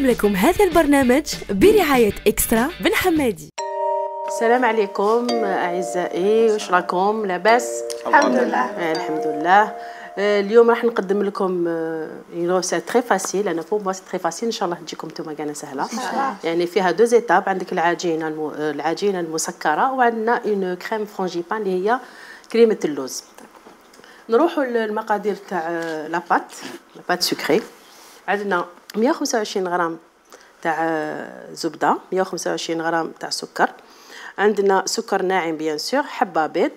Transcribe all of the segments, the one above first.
نقدم لكم هذا البرنامج برعاية إكسترا بن حمادي. السلام عليكم أعزائي، واش راكم لاباس؟ الحمد لله. الحمد لله. اليوم راح نقدم لكم سي تري فاسيل، انا بور موا سي تري فاسيل، ان شاء الله تجيكم نتوما كاع سهله. يعني فيها دو زيتاب، عندك العجينه المسكره وعندنا اون كريم فرانجيبان اللي هي كريمه اللوز. نروحوا للمقادير تاع لاباط سكري. عندنا 125 غرام تاع زبده، 125 غرام تاع سكر، عندنا سكر ناعم بيان سور، حبه بيض،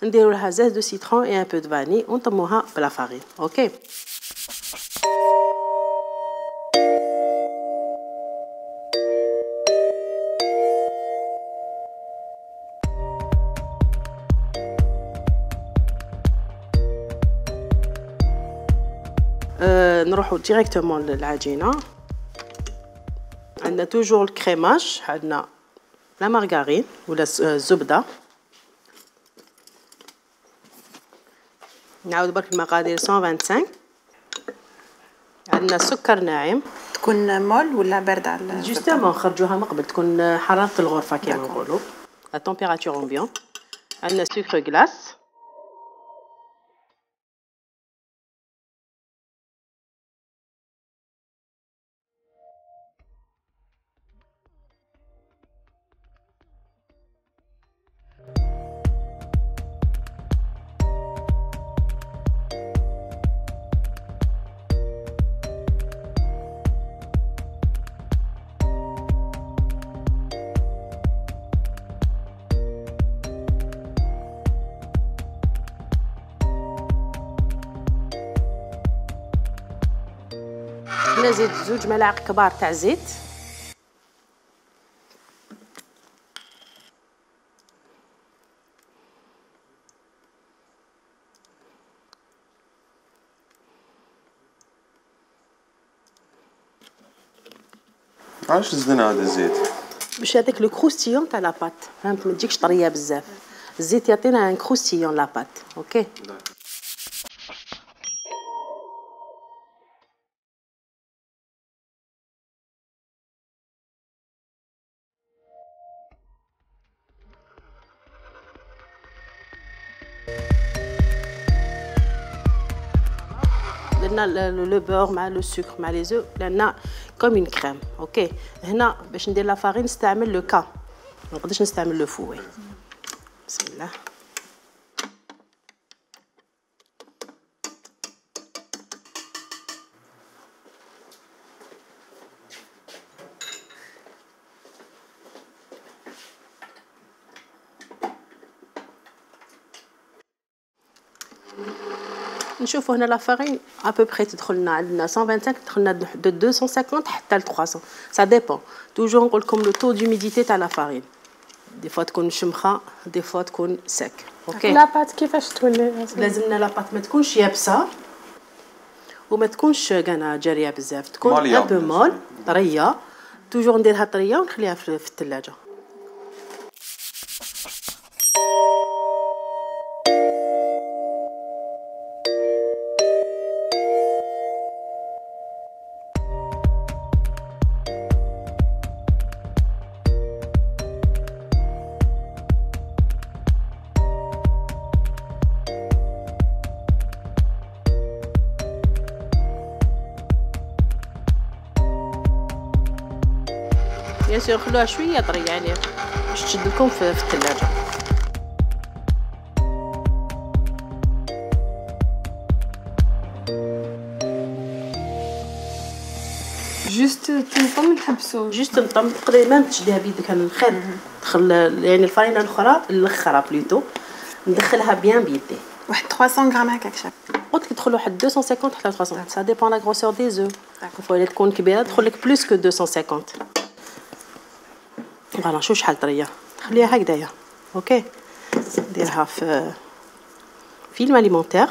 نديروا لها زيت دو سيترون اي ان بو دو فاني ونطموها بلا فارين. اوكي. نروحوا ديريكتومون للعجينه. عندنا توجور الكريماج، عندنا لا مارغارين ولا الزبده. نعاود برك المقادير 125. عندنا سكر ناعم، تكون مول ولا بارده على جوستومون نخرجوها من قبل، تكون حراره الغرفه كما نقولوا ا تمبيراتور امبيون. عندنا سكر غلاس، نزيد 2 ملاعق كبار تاع زيت، علاش زدنا هذا الزيت؟ باش هذاك لو كروستيون تاع لاباط، فهمت، ما تجيكش طريه بزاف. الزيت يعطينا ان كروستيون لاباط. اوكي. درنا لو بور مع لو سكر مع لي زو، درنا كوم اون كريم. اوكي. هنا باش ندير لا فارين نستعمل لو كا، ما نقدرش نستعمل لو فوي. بسم الله. نشوفوا هنا لا فارين ابوبري تدخلنا، عندنا 125 تدخلنا دو 250 حتى ل 300، سا ديبون. توجور نقول لكم لو طو دوميديتي تاع لا فارين، دي فوا تكون شمخه، دي فوا تكون سك. اوكي. لاباط كيفاش تولي؟ لازمنا لاباط ما تكونش يابسه وما تكونش كانا جاريه بزاف، تكون ان بو مول طريه. توجور نديرها طريه ونخليها في الثلاجه. بيان سور خلوها شويه طريه يعني باش تشد لكم في الثلاجه. جوست تنطم نحبسو، جوست نطم، تقدري ميم تشديها بيدك على الخير، تدخل يعني الفارينه الاخرى الاخرى بلوتو ندخلها بيان بيدي. واحد 300 غرام هكاك شاف. قلت لك تدخل واحد 250 حتى 300، سا ديبون لا غروسور دي زو. فوا تكون كبيره تدخل لك بلوس كو 250. فوالا شوف شحال طريه، خليها هكذايا. اوكي. نديرها في فيلم اليمونتير.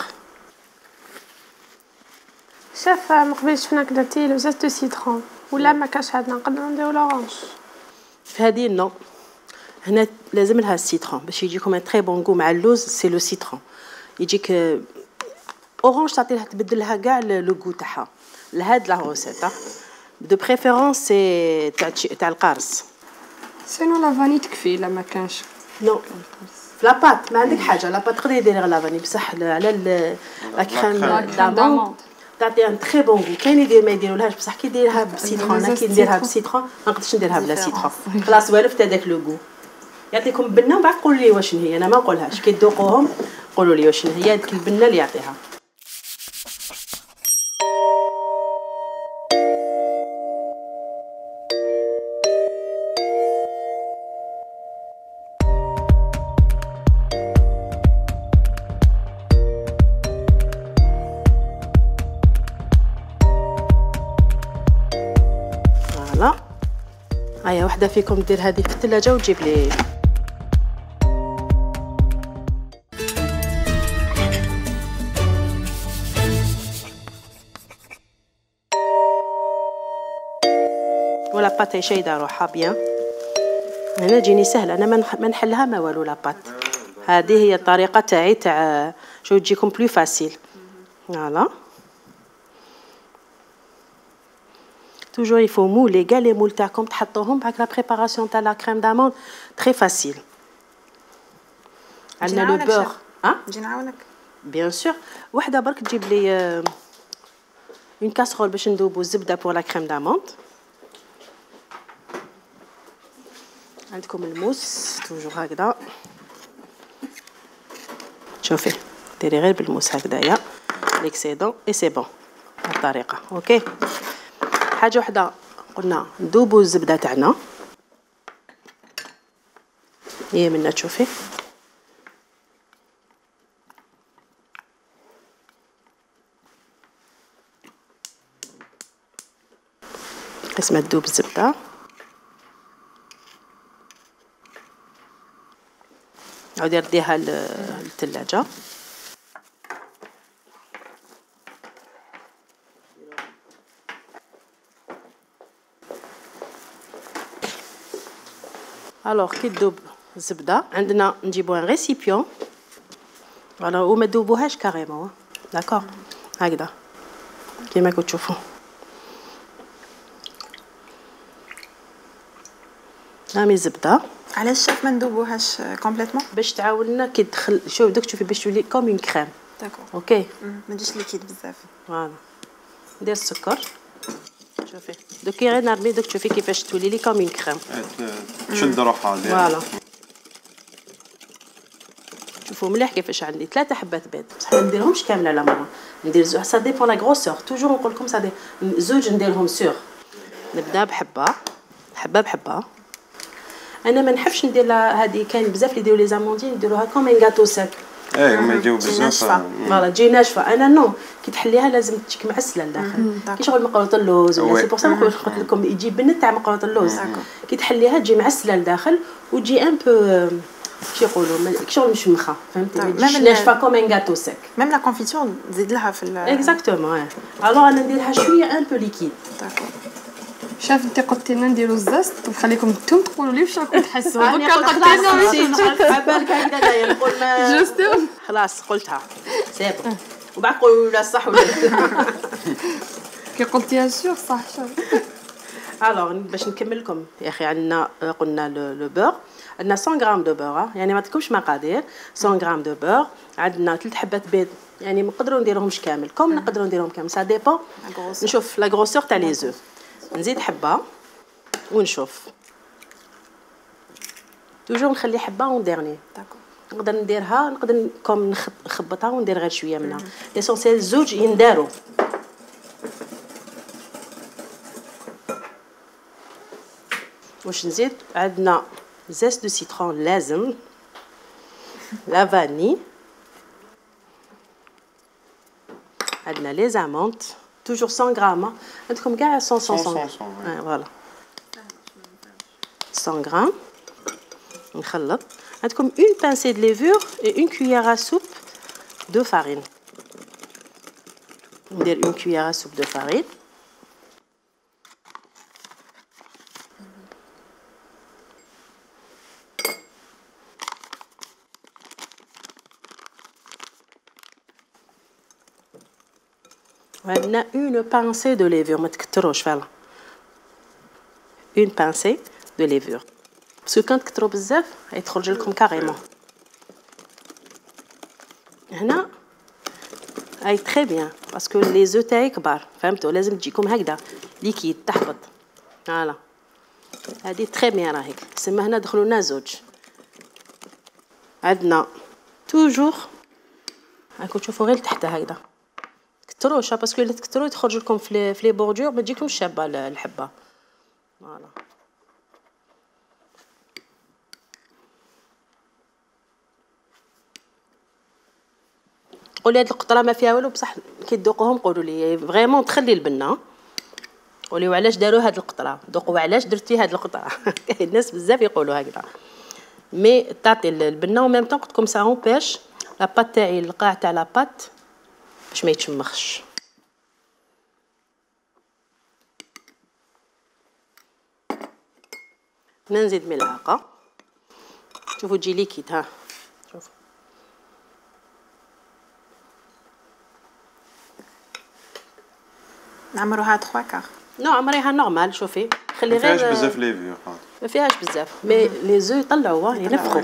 شاف من قبل شفنا درتي لو زيت دو سيترون ولا ما كاش عندنا نقدروا نديرو لورانج؟ في هذه نو، هنا لازم لها السيترون باش يجيكم ان تري بون غو مع اللوز. سي لو سيترون يجيك اورانج، تعطي لها تبدل لها كاع لو غو تاعها لهاد لا روسيت. دو بريفيرونس سي تاع القارص. سينو لافاني تكفي الا ما كانش. نو في لاباط ما عندك حاجه، لاباط تقدري ديري غير لافاني بصح على لا كريم داموند تعطي ان تري بون غو. كاين يدير ما يديرولهاش بصح كي ديرها بسيترون، انا كي نديرها بسيترون ما نقدرش نديرها بلا سيترون، خلاص والفت هذاك لو غو. يعطيكم بنه ومن بعد قولوا لي واش هي، انا ما نقولهاش، كي تذوقوهم قولوا لي واش هي هذيك البنه اللي يعطيها. فوالا هيا وحده فيكم دير هذه في الثلاجه وتجيب لي. ولا بات شايده روحها بيان. هنا تجيني سهله، انا ما نحلها ما والو. لا بات هذه هي الطريقه تاعي تاع شو تجيكم بلو فاسيل. فوالا توجور يفو مولي كاع لي مول تاعكم تحطوهم بعد لا بريباراسيون تاع لا كريم داموند تري فاسيل. عندنا لو بور. نجي نعاونك بيان سور. وحده برك تجيب لي اون كاسرول باش ندوبو الزبده بور لا كريم داموند. عندكم الموس توجور هكذا، شوفي ديري غير بالموس هكذايا ليكسيدون اي سي بون بالطريقه. اوكي حاجه وحده قلنا ندوبو الزبده تاعنا هي منا تشوفي قسمه تذوب الزبده. عاودي رديها للثلاجه. الوغ كي تذوب الزبده عندنا نجيبو ان ريسيبيون فوالا وما تذوبوهاش كاريمون داكور هكذا كيما كنتو تشوفوا. رامي الزبده. علاش شاف ما ندوبوهاش كومبليتمون؟ باش تعاوننا كي تدخل شوف دوك تشوفي باش تولي كوم اون كريم. داكور اوكي ما تجيش ليكيد بزاف. فوالا ندير السكر شوفي دوك غير نرمي دوك تشوفي كيفاش تولي لي كوم اون كريم. تشد روحها فوالا شوفوا مليح كيفاش عندي 3 حبات بيض بصح ما نديرهمش كامله لا ماما، ندير زوج سا ديبون لا غروسور. توجور نقول لكم سا زوج نديرهم سور. نبدا بحبه حبه بحبه. انا ما نحبش ندير هذه كاين بزاف اللي يديروا لي زاموندين يديروها كوم ان غاتو ساك. ما يجيو بزاف فوالا تجي ناشفه. انا نو كي تحليها لازم تجيك معسله لداخل كي شغل مقروط اللوز ولا سي بور سا قلت لكم يجي بنت تاع مقروط اللوز. كي تحليها تجي معسله لداخل وتجي ان بو كي يقولوا شغل مشمخه فهمتي. ماشي ناشفه كوم ان غاتو ساك. ميم لا كونفيتور تزيد لها في اكزاكتومون. الوغ انا نديرها شويه ان بو ليكيد. داكور شاف انت قلتي لنا نديرو الزست ونخليكم انتم تقولوا لي واش راكم تحسوا. انا قلت عبالك هكذا نقول ما جوستو خلاص قلتها سي بون وبعد قولوا لا صح ولا كي قلتيها سور صح. الوغ باش نكمل لكم يا اخي عندنا قلنا لو بور عندنا 100 غرام دو بور يعني ما تكونش مقادير 100 غرام دو بور. عندنا 3 حبات بيض يعني نقدروا نديرهمش كامل كوم نقدروا نديرهم كامل سا ديبون. نشوف لا غروسور تاع لي زو نزيد حبه ونشوف توجور نخلي حبه اون ديرني. داكور نقدر نديرها نقدر كوم نخبطها وندير غير شويه منها. ليسونسيال زوج ينداروا. واش نزيد عندنا زيت دو سيترون لازم لا فاني عندنا لي زامونت توجور 100 غرام عندكم كاع 100 فوالا 100 غرام نخلط. عندكم une pincée de levure et une cuillère à soupe de farine. ندير une cuillère à soupe de farine. عندنا une pincée de levure ما تكتروش فوالا اون بانسي دو ليفور باسكو كان تكثروا بزاف يتخرج لكم كاريمون. هنا هاي تري بيان باسكو لي زو تاعي كبار فهمتوا لازم تجيكم هكذا ليكيد تحبط. فوالا هذه تري بيان راهيك تسمى هنا دخلوا لنا زوج. عندنا توجور هاكو تشوفوا غير لتحت هكذا كثروش باسكو الا تكثروا تخرج لكم في لي بوردور ما تجيكمش شابه الحبه. فوالا قولي هاد القطره ما فيها والو بصح كي تذوقوهم قولوا لي فريمون تخلي البنه قولوا علاش داروا هاد القطره ذوقوا علاش درتي هاد القطره. كاين الناس بزاف يقولوا هكذا مي تعطي البنه وميم طون قلت لكم سا اونبيش لا بات تاعي القاع تاع لا بات باش ما يتشمخش. نزيد ملعقه شوفوا تجي ليكيد ها شوفوا نعمروها 3 كار. نو عمريها نورمال. شوفي خلي غير ما فيهاش بزاف ليفيو ما فيهاش بزاف مي لي زو يطلعوا ينفخوا.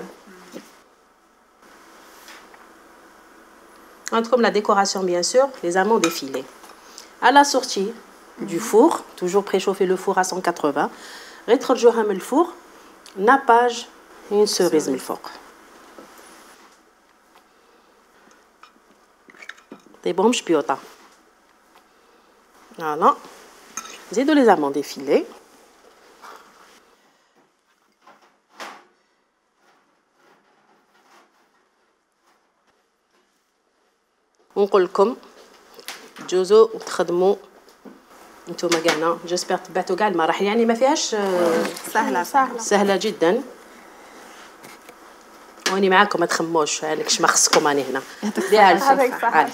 عندكم لا ديكوراسيون بيان سور les amandes effilées. À la sortie du four, toujours préchauffer le four à 180. غتخرجوها من الفور ناباج une cerise من الفوق. طيبهم شبيوطه. فوالا نزيدو les amandes effilées. ونقول لكم تجوزوا وتخدموا نتوما كاعنا جيسبر تبعتوا كاع المراحل يعني ما فيهاش سهله جدا. واني معاكم ما تخموش عليكش ما خصكم راني هنا ديها الفل.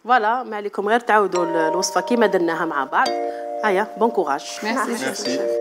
فوالا ما عليكم غير تعاودوا الوصفه كيما درناها مع بعض. هيا بون كوراج. ميرسي.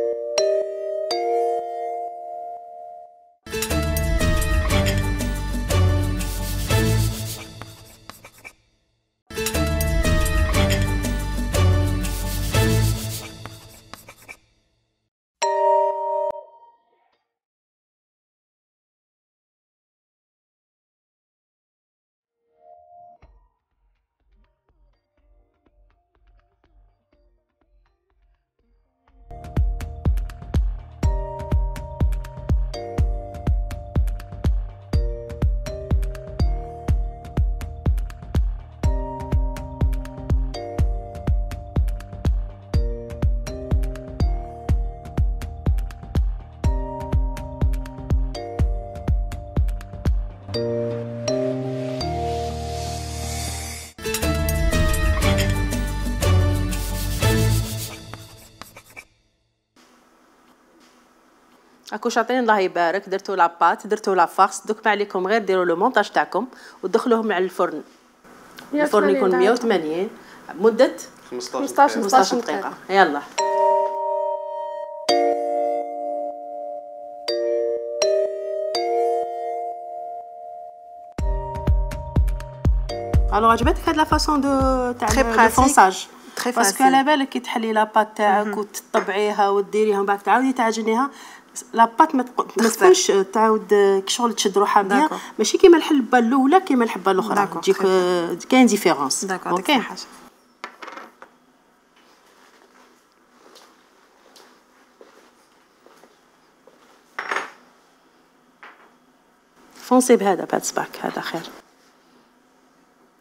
هاكو شاطرين الله يبارك درتو لاباط درتو لا فارس دوك ما عليكم غير ديروا لو مونطاج تاعكم وتدخلوهم على الفرن. الفرن يكون 180 مده 15 دقيقه. يلا الو عجبتك هاد لا فاصون دو تاع الفونساج باسكو على بالك كي تحلي لاباط تاعك وتطبعيها وديريها ومن بعد تعاودي تعجنيها لاباط ما تكونش تعاود كشغل تشد روحها بيان ماشي كيما الحلبه الاولى كيما الحبه الاخرى تجيك كاين ديفيرونس. اوكي فونسي بهذا بهذا الصباك هذا خير.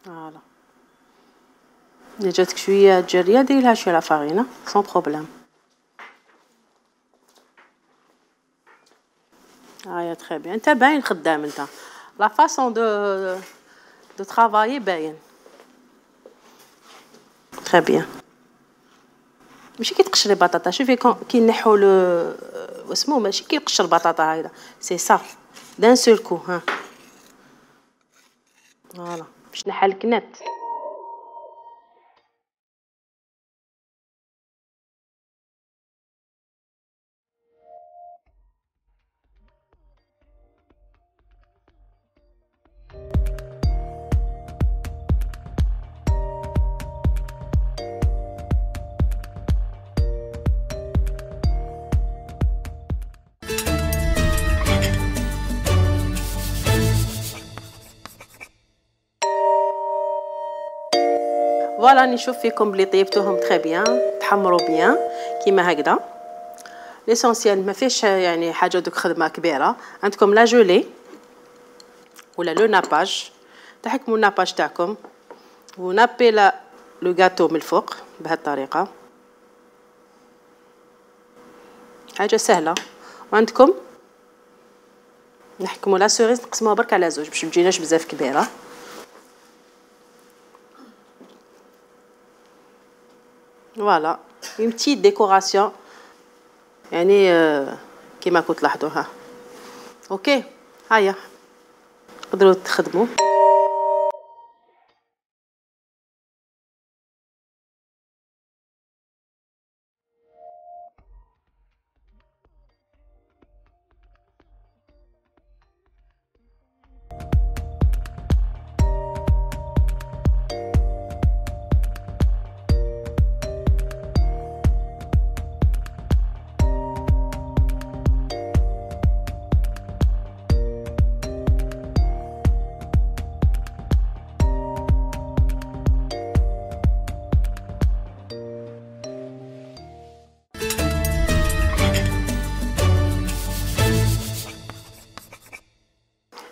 فوالا إذا جاتك شويه جريه ديري لها شويه لا فارينه سون بروبليم. هايا تري بيان انت باين خدام انت لا فاصون دو ترافايي باين تري بيان. ماشي كي تقشري بطاطا شوفي كي نحو واسمو ماشي كي نقشر بطاطا هكذا سي صا دان سول كو ها فوالا باش نحل الكنات. فوالا نشوف فيكم بلي طيبتوهم تري بيان، تحمروا بيان كيما هكذا. ليسونسيال ما فيش يعني حاجه دوك خدمه كبيره. عندكم لا جولي ولا لو ناباج، تحكموا الناباج تاعكم ونابي لو غاتو من الفوق بهذه الطريقه، حاجه سهله. وعندكم نحكموا لا سوريز نقسموها برك على زوج باش متجيناش بزاف كبيره. فوالا اون بتيت ديكوراسيون يعني كيما كنت لاحظوها. اوكي هيا تقدروا تخدموا.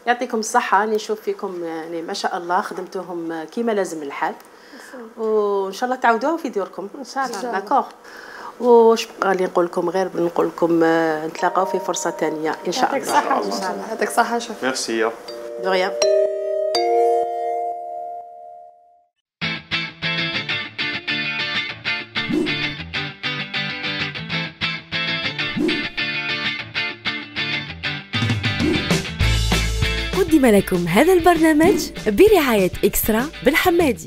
يعطيكم الصحة. نشوف فيكم يعني ما شاء الله خدمتوهم كيما لازم الحال، وإن شاء الله تعاودوها في ديوركم ان شاء الله. داكوغ. واش بقى لي نقول لكم غير نقول لكم نتلاقاو في فرصة ثانية إن شاء يعطيك الله. الصحة ان شاء الله. يعطيك الصحة شوف. Merci. دو ريان. قدم لكم هذا البرنامج برعاية إكسترا بالحمادي.